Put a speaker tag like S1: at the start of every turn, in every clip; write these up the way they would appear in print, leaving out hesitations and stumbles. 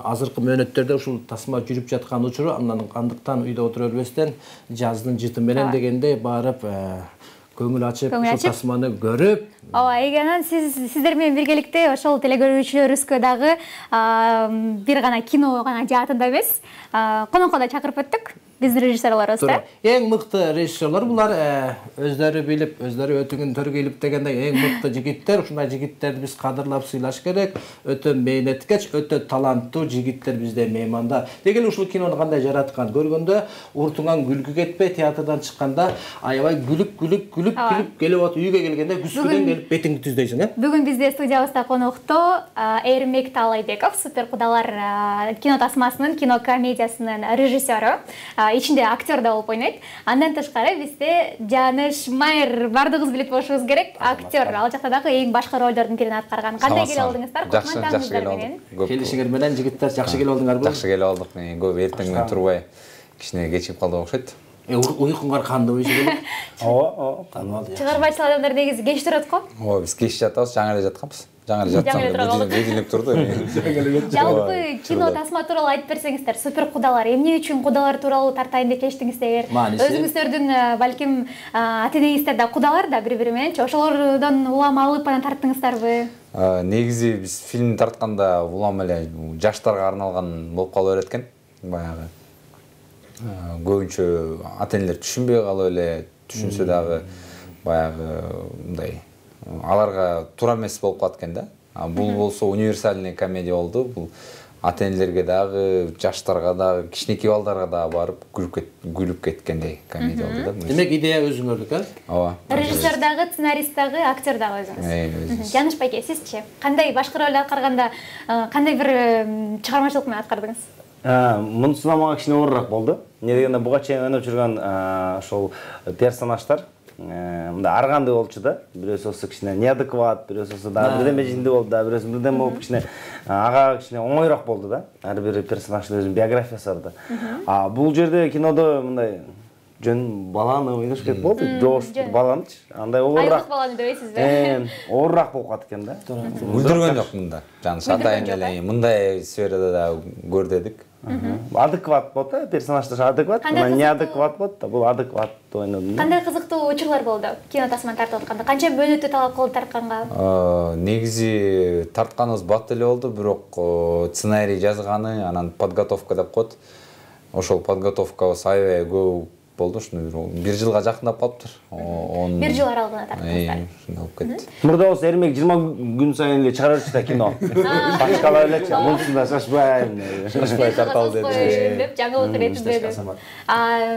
S1: азыркы мөөнөттөрдө ушул тасма жүрүп жаткан учуру, андан андыктан үйдө отура бербестен жаздын жыты менен дегенде барып көңүл ачып ушул тасманы көрүп.
S2: Ооба, Эйген, сиздер менен биргеликте ошол телегөрүүчүлөрүбүзгө дагы бир гана кино гана жаатында эмес, конокко да чакырып өттүк. Биздин режиссерлорубуз да.
S1: Эң мыкты режиссерлор булар, өздөрү билип, өздөрү өтүнгүн төргөйлүп дегендей эң мыкты жигиттер. Ушундай жигиттерди биз кадырлап сыйлаш керек. Өтө мээнеткеч, өтө таланттуу жигиттер бизде мейманда. Дегеле ушул кинону кандай жараткан көргөндө уртуңан күлкү кетпей, театрдан чыкканда аябай күлүп келип атып үйгө келгенде күскүдөн келип бетиңди түздөйсүң,
S2: Бүгүн бизде студиябызда конокто Эрмек Таалайбеков, Супер кудалар кино тасмасынын, кино комедиясынын режиссеру. Ичинде актер да болуп ойнойт. Андан тышкары бизде Жаныш Майер бардыгыбыз билет болушубуз керек. Актер, ал жакта дагы эң башка ролдордун бирин аткарган. Кандай келе алдыңыздар?
S3: Жакшы келе алдык.
S1: Келишиңер менен жигиттер жакшы келе алдыңарбы?
S3: Жакшы келе алдык. Көп эртеңден турбай кичине кечип калдык окшойт.
S1: Уйкуңар кандай болчу болот?
S3: Ооба,
S1: танымал.
S2: Чыгармачыл адамдар негизи кеч турат го?
S3: Ооба, биз кеч жатабыз, жаңы эле жатканбыз. Жаңы эле жатсам, бедилип турду.
S2: Жалпы кино тасма тууралуу айтып берсеңиздер, Супер кудалар эмне үчүн кудалар тууралуу тартайын деп чечтиңиздер? Өзүңүздөрдүн балким ата-энеңиздер да кудалар да бири-бири мененчи, ошолордон улам алып анан тарттыңыздарбы?
S3: Негизи биз фильм тартканда улам эле жаштарга арналган болуп кала берет экен. Баягы көбүнчө ата-энелер түшүнбөй калып эле, түшүнсө дагы баягы мындай аларга туура эмес болуп калат экен да. Бул болсо универсальный комедия болду. Бул ата-энелерге дагы, жаштарга дагы, кичинекей балдарга дагы барып күлүп кеткендей комедия болду да.
S1: Демек идея өзүңөрдүк,
S3: Ооба.
S2: Режиссер дагы, сценарист дагы, актер дагы өзүңүз. Жаныш байке, сизчи? Кандай башкы ролду аткарганда кандай бир чыгармачылык менен аткардыңыз?
S4: Мунусунда мага кичине оорураак болду. Эмне дегенде буга чейин ойноп жүргөн ошол персонаждар мындай ар кандай болчу да. Бирөөсү кичине неадекват, бирөөсү дагы бирдеме жинди болду да, бирөөсү бирдеме болуп кичине ага кичине оңоюраак болду да. Ар бир персонаждын өзүнүн биографиясы бар да. Бул жерде кинодо мындай жөн баланы ойнош керек болду, жош баланычы. Андай оорураак.
S2: Айлык баланы дебейсизби?
S4: Оорураак болуп калат экен да.
S3: Күлдүргөн жок мында. Жаныш ата-энелер мындай сферада да көр дедик.
S4: Адекват болот да, персонаждар адекват, неадекват болот да, бул адекват ойнодум.
S2: Кандай кызыктуу учурлар болду кино тасманы тартып атканда? Канча мөөнөттү талап кылды тартканга?
S3: Негизи тартканыбыз бат эле болду, бирок сценарий жазганы, анан подготовка деп коет. Ошол подготовкабыз аябай көп болду, ушуну бир жылга жакындап калыптыр.
S2: Бир жыл аралыгында тарттыңыздар.
S3: Ушундай болуп кетти.
S4: Мурда болсо Эрмек 20 күн сайын эле чыгара берчү да кино. Башкалар элечи, мунусунда шашпай
S3: тарталы
S2: деп жаңылык иретинде.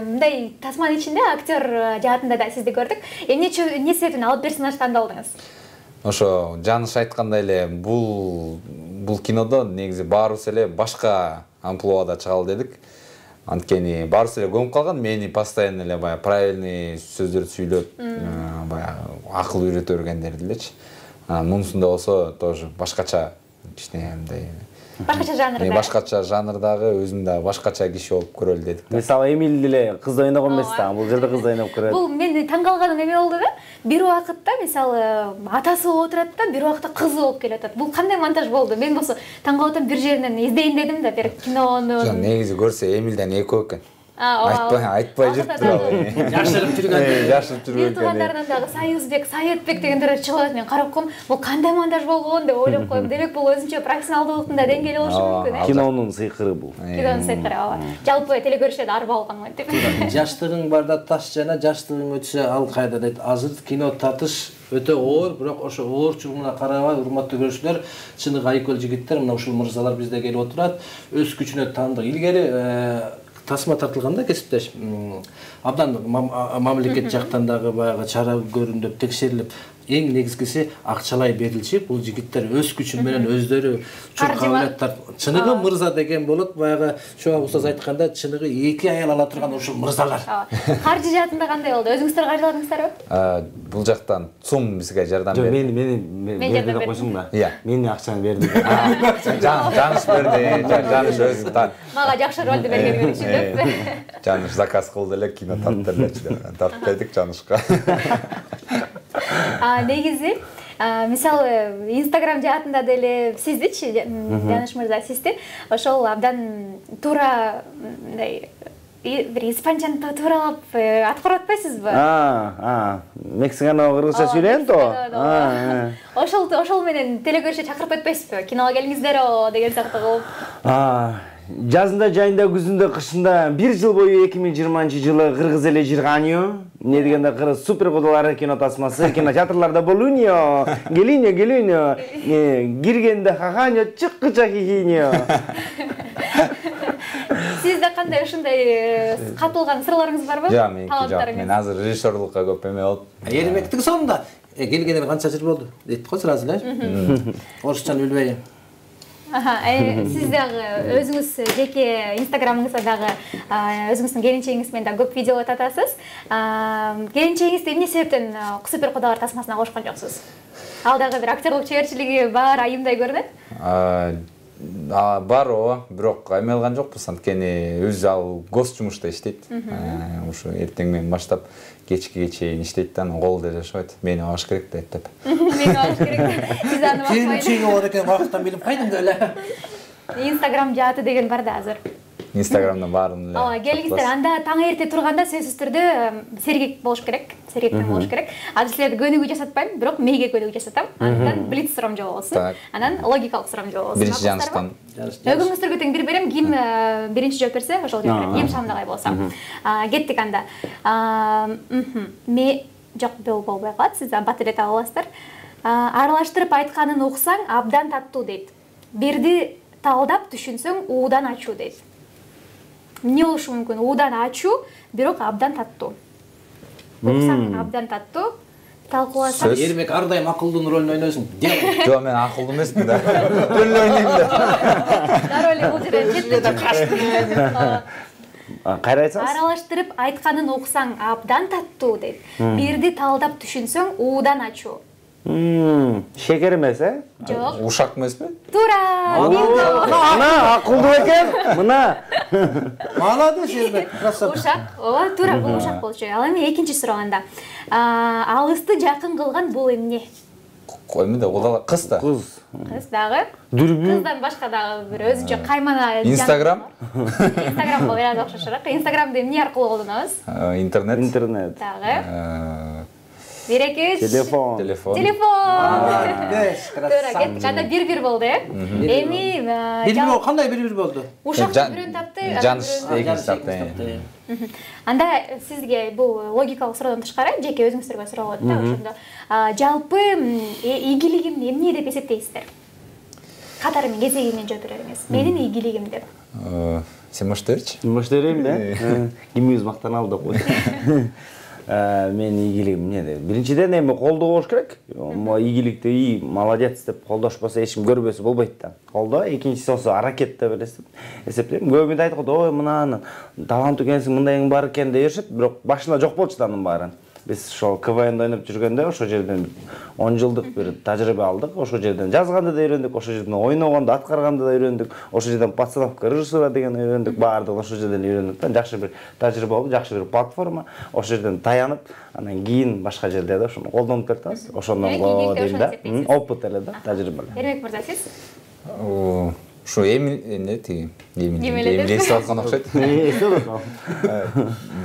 S2: Мындай тасманын ичинде актер жаатында да сизди көрдүк. Эмне себептен ал персонаж тандалдыңыз?
S3: Ошо Жаныш айткандай эле бул кинодо негизи баарыбыз эле башка амплуада чыгалы дедик. Анткени баарыбыз эле көмүп калган, мени постоянно эле баягы правильный сөздөрдү сүйлөп, баягы акыл үйрөтө бергендер элечи. Мунусунда болсо тоже башкача кичине мындай
S2: башкача жанрда.
S3: Башкача жанрдагы өзүм да башкача киши болуп көрөлү дедик.
S4: Мисалы Эмиль деле кыз ойногон эмес да, бул жерде кыз ойноп көрөт.
S2: Бул мени таң калганым эме болду да. Бир убакытта мисалы атасы болуп отурат да, бир убакытта кызы болуп келип атат. Бул кандай монтаж болду? Мен болсо таң калып атам, бир жеринен издейин дедим да, бир кинону.
S3: Негизи көрсө Эмилден экөө экен. Айтпай жүрүп турабы.
S1: Жашырып
S3: жүргөн.
S2: Мен туугандарынан дагы Союзбек, Саетбек дегендер чыгып атат. Мен карап коем, бул кандай монтаж болгон деп ойлоп коем. Демек бул өзүнчө профессионалдуулуктун да деңгээли болушу мүмкүн,
S4: Кинонун сыйкыры бул.
S2: Кинонун сыйкыры, ооба. Жалпы телегөрүүчүлөр да ар болгон деп.
S1: Жаштыгың барда таш жана, жаштыгың өтсө ал кайда дейт. Азыр кино тартыш өтө оор, бирок ошо оорчулугуна карабай, урматтуу көрүүчүлөр, чыныгы айкөл жигиттер, мына ушул мырзалар бизде келип отурат. Өз күчүнө таандык. Илгери тасма тартылганда кесиптеш абдан мамлекет жактан дагы баягы чара көрүндүп текшерилип, эң негизгиси акчалай берилчи. Бул жигиттер өз күчү менен өздөрү чоң кабилеттер. Чыныгы мырза деген болот, баягы Шоа устаз айтканда, чыныгы эки аял ала турган ушул мырзалар.
S2: Каржы жаатында кандай болду? Өзүңүздөр каржыладыңыздарбы?
S3: Бул жактан ЦУМ бизге жардам берди.
S4: Мени берди деп койсуң да. Мени акчаны берди.
S3: Жаныш берди, Жаныш өзү
S2: Мага жакшы ролду бергени үчүн деп.
S3: Жаныш заказ кылды эле, кино тартып элечи. Тартып бердик Жанышка.
S2: Негизи Мисалы, Instagram жаатында деле сиздичи, Жаныш мырза, сизди ошол абдан туура мындай бир испанчаны тууралап аткарып атпайсызбы?
S4: Мексиканы кыргызча сүйлөйм то.
S2: Ошол менен телекөрүүчү чакырып атпайсызбы? Киного келиңиздер деген сыяктуу кылып.
S4: Жазында, жайында, күзүндө, кышында 1 жыл бою 2020-жылы кыргыз эле жырганıyor. Эмне дегенде кыргыз супер кудалары кино тасмасы, кинотеатрларда болунио, келинио. Киргенде хаханио, чыккыча хихинио.
S2: Сизде кандай ушундай катылган сырларыңыз барбы?
S3: Жок, мен азыр режиссерлукка көп эме болуп.
S1: Эрмектиң сонунда келгенине канча жыл болду дейт го сразу эле. Орусчаны билбей.
S2: Сиз дагы өзүңүз жеке инстаграмыңызда дагы өзүңүздүн келинчегиңиз менен да көп видеолор татасыз. Келинчегиңизди эмне себептен супер кудалар тасмасына кошкон жоксуз? Ал дагы бир актерлук чеберчилиги бар айымдай көрүнөт.
S3: Бар ооба, бирок эме алган жокпуз, анткени өзү ал гос жумушта иштейт. Ушу эртең менен баштап кечке чейин иштейт да, кол деле жашабайт. Мени багыш керек деп.
S2: Мени багыш керек. Сиз аны бакпайсыз.
S1: Келинчеги бар экен, вакыттан билип кайдым эле.
S2: Инстаграм жааты деген бар да азыр.
S3: Инстаграмда баарын эле.
S2: Ооба, келиңиздер. Анда таң эрте турганда сөзсүз түрдө сергек болуш керек. Сергектен болуш керек. Азыр силерди көнүгүү жасатпайм, бирок мейге көнүгүү жасатам. Андан блиц сурамжоо болсун. Анан логикалык сурамжоо болсун.
S3: Биринчи Жаныштан.
S2: Өгүңүздөргө тең бир берем, ким биринчи жооп берсе, ошол жооп берем. Эм шамдагай болсо. Кеттик анда. Жок, болбой калат, сиз бат эле таап аласыздар. Аралаштырып айтканын уксаң абдан таттуу дейт. Бирди талдап түшүнсөң уудан ачуу дейт. Эмне болушу мүмкүн? Уудан ачуу, бирок абдан таттуу. Уксаң абдан таттуу, талкууласаң.
S1: Эрмек ар дайым акылдын ролун ойнойсуң.
S3: Жок, мен акылдуу эмесмин да. Роль ойнойм да.
S2: Дароо эле бул жерде четтен качты.
S4: Кайра айтсаңыз?
S2: Аралаштырып айтканын уксаң абдан таттуу дейт. Бирди талдап түшүнсөң уудан ачуу.
S4: Шекер эмес,
S2: Жок.
S3: Ушак эмеспи?
S2: Туура.
S4: Мына акылдуу экен. Мына.
S1: Молодец, Эрмек, красавчик.
S2: Ушак. Ооба, туура, бул ушак болчу. Ал эми экинчи сурооганда. Алысты жакын кылган бул эмне?
S3: Эме да, кудалар кыз да.
S4: Кыз.
S2: Кыз дагы.
S4: Дүрбү.
S2: Кыздан башка дагы бир өзүнчө каймана.
S3: Инстаграм?
S2: Инстаграм болот, да, окшошураак. Инстаграмды эмне аркылуу колдонобуз?
S3: Интернет.
S2: Дагы. Бир-эки.
S4: Телефон.
S2: Телефон.
S1: Красавчик.
S2: Кеттик. Анда бир болду, Эми
S1: Бир кандай бир болду?
S2: ушак бирөөнү тапты.
S3: Жаныш экинчи тапты.
S2: Анда сизге бул логикалык суроодон тышкары жеке өзүңүздөргө суроо болот да, ошондо. Жалпы ийгилигим эмне деп эсептейсиздер? Катары менен кезеги менен жооп бериңиз. Менин ийгилигим деп.
S3: Сен баштайчы?
S4: Баштайм да. Кимибиз мактаналдык кой. Мен ийгилигим эмне деп. Биринчиден эми колдоо болуш керек. Ийгиликти молодец деп колдошпосо эч ким көрбөсө болбойт да. Колдоо, экинчиси болсо аракет деп эсептейм. Көбү айтат го, ой мына таланттуу экенсиң, мындайың бар экен деп беришет, бирок башында жок болчу да анын баары. Биз ошол КВН ойноп жүргөндө ошол жерден 10 жылдык бир тажрыйба алдык. Ошол жерден жазганды да үйрөндүк, ошол жерден ойногонду, аткарганды да үйрөндүк. Ошол жерден постановка режиссура деген үйрөндүк. Баардыгын ошол жерден үйрөндүк да. Жакшы бир тажрыйба болду, жакшы бир платформа. Ошол жерден таянып, анан кийин башка жерде да ошону колдонуп беребиз. Ошондон го дейм да. Опыт эле да, тажрыйба эле.
S2: Эрмек мырза, сиз?
S3: Ушу эмне тиги эмилесип аткан окшойт.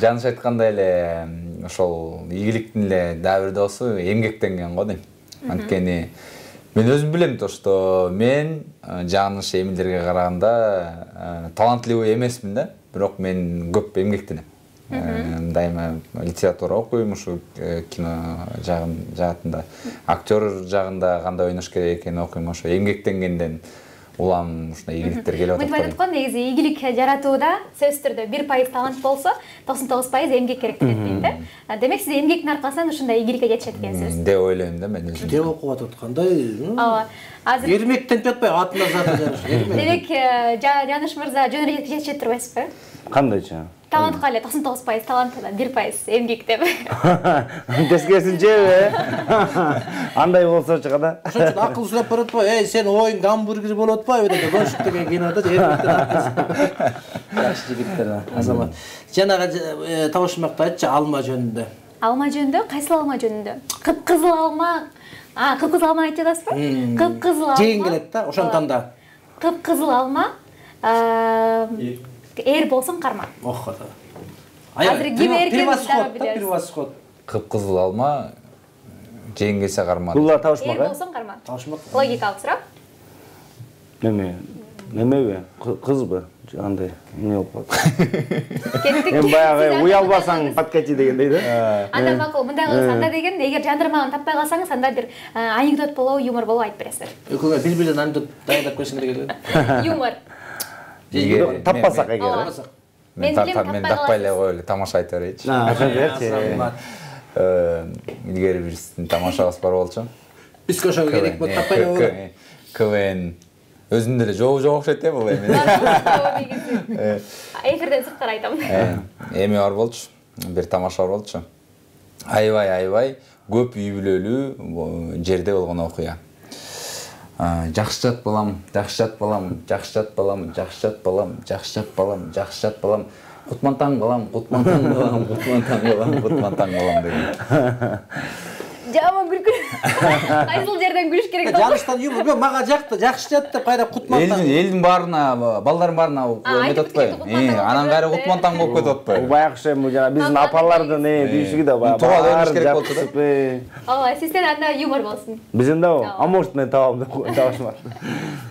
S3: Жаныш айткандай эле ошол ийгиликтин эле дагы бир доосу эмгектенген го дейм. Анткени мен өзүм билем то, что мен Жаныш эмилерге караганда талантлуу эмесмин да, бирок мен көп эмгектенем. Дайыма литература окуйм, ушу кино жаатында, актер жагында кандай ойнош керек экенин окуйм, ошо эмгектенгенден улам ушундай ийгиликтер келип атат.
S2: Мынтип айтат го, негизи ийгилик жаратууда сөзсүз түрдө 1% талант болсо, 99% эмгек керек деп дейт да. Демек сиз эмгектин аркасынан ушундай ийгиликке жетишет экенсиз.
S3: Деп ойлойм да мен өзүм.
S1: Деп окуп атат кандай?
S2: Ооба. Азыр
S1: Эрмектен жатпай атына заты Жаныш.
S2: демек Жаныш мырза жөн эле жетишет турбайсызбы?
S4: Кандайча?
S2: Талантка эле 99% талант, 1% эмгек деп.
S4: Тескерисинчеби? Андай болсочу када.
S1: Ошон үчүн акыл сурап барып атпайбы? Эй, сен оюң гамбургер болуп атпайбы деп Гонщик деген кинода Эрмектен акыл. Жакшы жигиттер, азамат. Жанагы табышмакты айтчы алма жөнүндө.
S2: Алма жөнүндө, кайсыл алма жөнүндө? Кыпкызыл алма, Кыпкызыл алманы айтып жатасызбы? Кыпкызыл алма.
S1: Жеген келет да, ошондон да.
S2: Кыпкызыл алма эр болсоң карма.
S1: Ох да.
S2: Азыр ким эркенин дагы билебиз.
S1: Превосход.
S3: Кыпкызыл алма жеген келсе карма.
S4: Булар табышмак.
S2: Эр болсоң карма.
S1: Табышмак.
S2: Логикалык суроо.
S4: Немеби? Кызбы? Андай эмне болуп калат?
S2: Кеттик.
S4: Мен баягы уялбасаң подкати дегендей да.
S2: Анда макул, мындай кылсаң анда деген, эгер жандырмагын таппай калсаңыз, анда бир анекдот болобу, юмор болобу айтып бересиздер.
S1: Экөөңөр бири-биринен анекдот даярдап койсоңор керек.
S2: Юмор.
S4: Таппасак эгер.
S2: Мен билем,
S3: мен таппай эле коелу, тамаша айта берейинчи.
S4: Ошо берчи.
S3: Илгери бир сиздин тамашабыз бар болчу.
S1: Биз ошого керек болуп таппай эле болот.
S3: КВН өзүндө эле жок окшойт бул эми.
S2: Эфирден сырткары айтам.
S3: Эми бар болчу, бир тамаша бар болчу. Аябай көп үй бүлөлүү жерде болгон окуя. Жакшы жат балам, жакшы жат балам, жакшы жат балам, жакшы жат балам, жакшы жат балам, жакшы жат балам, кутмантаң балам, кутмантаң балам, кутмантаң балам, кутмантаң балам деген.
S2: Жаман күлкү. Кайсыл жерден күлүш керек болду?
S1: Жаныштан юмор, мага жакты, жакшы жат деп кайра кутмантаң.
S3: Элдин баарына, балдардын баарына эметип атпайбы? Анан кайра кутмантаң болуп кетип атпайбы?
S4: Баягы жана биздин апалардын дүйшүгү да баягы.
S3: Тууга дөнүш керек болчу да.
S2: Ооба, сизден анда юмор болсун.
S4: Бизден дабы? А может мен табам деп табышмак.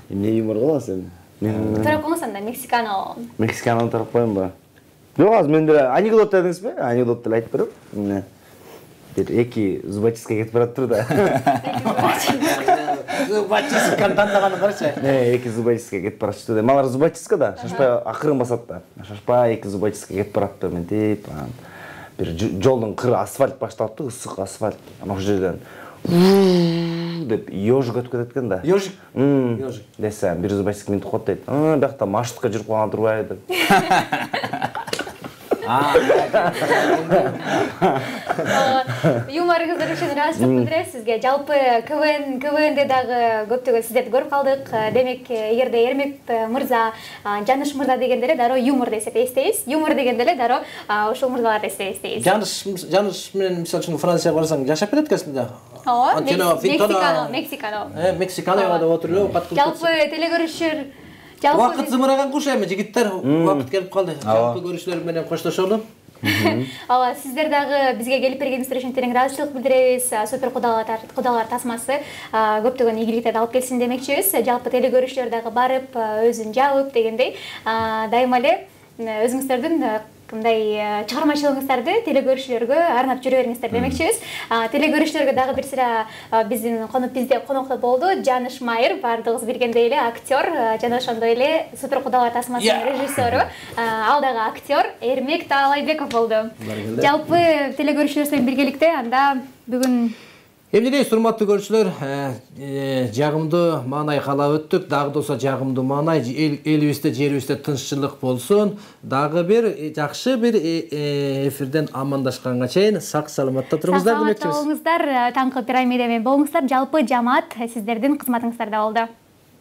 S4: Эмне юмор кыласыз эми?
S2: Тарап коңуз анда Мексикано.
S4: Мексикананы тарап коеюнбу? Жок, азыр мен деле анекдот дедиңизби? Анекдот деле айтып берем. Эмне? Бир эки зубочистке кетип бараттыр да.
S1: Зубочистканы тандаганы карачы.
S4: Эки зубочистке кетип баратчы да. Малар зубочистка да, шашпай акырын басат да. Шашпай эки зубочистке кетип барат да, мынтип бир жолдун кыры асфальт башталыптыр, ысык асфальт. Ана ошол жерден деп ёжик өтүп кетет экен да.
S1: Ёжик.
S4: Ёжик. Десе, бир зубочистке минтип коет дейт. Биякта маршрутка жүрүп калган турбайбы деп.
S2: Юморыңыздар үчүн ыраазычылык билдиребиз сизге. Жалпы КВНде дагы көптөгөн сиздерди көрүп калдык. Демек, эгерде Эрмек мырза, Жаныш мырза дегенде эле дароо юмор десек эстейбиз. Юмор дегенде эле дароо ушул мырзаларды эстейбиз.
S1: Жаныш менен мисалы үчүн Францияга барсаң жашап берет экенсиң да.
S2: Ооба, Мексикано.
S1: Мексиканога да отуруп эле окат кылып.
S2: Жалпы телегөрүшөр
S1: Убакыт зымыраган куш эми жигиттер, убакыт келип калды. Жалпы көрүүчүлөр менен коштошолу.
S2: Ооба, сиздер дагы бизге келип бергениңиздер үчүн терең ыраазычылык билдиребиз. Супер кудалар тасмасы көптөгөн ийгиликтерди алып келсин демекчибиз. Жалпы телегөрүүчүлөр дагы барып, өзүн жабып дегендей, дайыма эле өзүңүздөрдүн мындай чыгармачылыгыңыздарды телегөрүүчүлөргө арнап жүрө бериңиздер демекчибиз. Телегөрүүчүлөргө дагы бир сыра биздин бизде конокто болду Жаныш Майер, баардыгыбыз билгендей эле актер, жана ошондой эле Супер кудалар тасмасынын режиссеру, ал дагы актер Эрмек Таалайбеков болду. Жалпы телегөрүүчүлөр менен биргеликте анда бүгүн
S1: Эмнедей, урматтуу көрүүчүлөр, жагымдуу маанай каалап өттүк. Дагы болсо жагымдуу маанай элибизде, жерибизде тынччылык болсун. Дагы бир жакшы бир эфирден амандашканга чейин сак саламатта туруңуздар демекчибиз.
S2: Саламатта болуңуздар, таңкы пирамида менен болуңуздар. Жалпы жамаат сиздердин кызматыңыздарда болду.